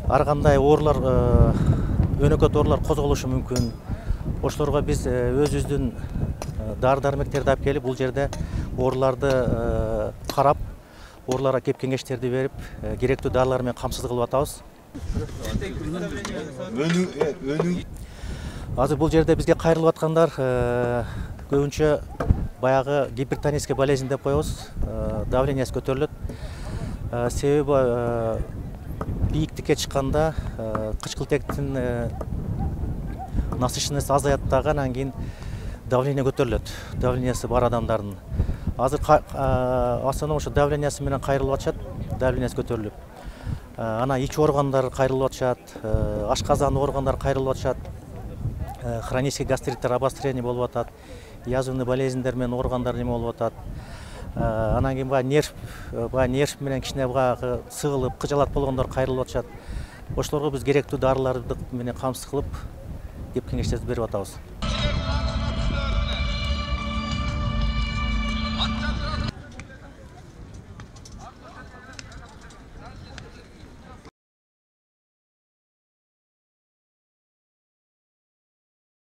ар кандай оорулар, өнөкөт оорулар козголушу мүмкүн. Ошолорго биз өзүбүздүн дары-дармектерди алып келип, бул жерде ооруларды карап, ооруларга кеп кеңештерди берип, керектүү дарылар менен камсыз кылып атабыз. Азыр бул жерде бизге кайрылып аткандар көбүнчө баягы гипертонический болезнь деп коебуз, давлениясы көтөрүлөт. Себеби бийиктикке чыкканда кычкылтектин насыщенности азаят дагы, анан кийин давление көтөрүлөт, давлениясы бар адамдардын. Азыр основном ошо давлениясы менен кайрылып атышат, давлениясы көтөрүлүп. Анан ич органдар кайрылып атышат, ашказан органдар кайрылып атышат, хронический гастриттер, обострение болуп атат, язвенный болезньдер менен органдар неме болуп атат. Анан кийин нерв менен кичине сыгылып, кыжалат болгондор кайрылып атышат. Ошолорго биз керектүү дарыларды менен камсыз кылып, кеп кеңештерди берип атабыз.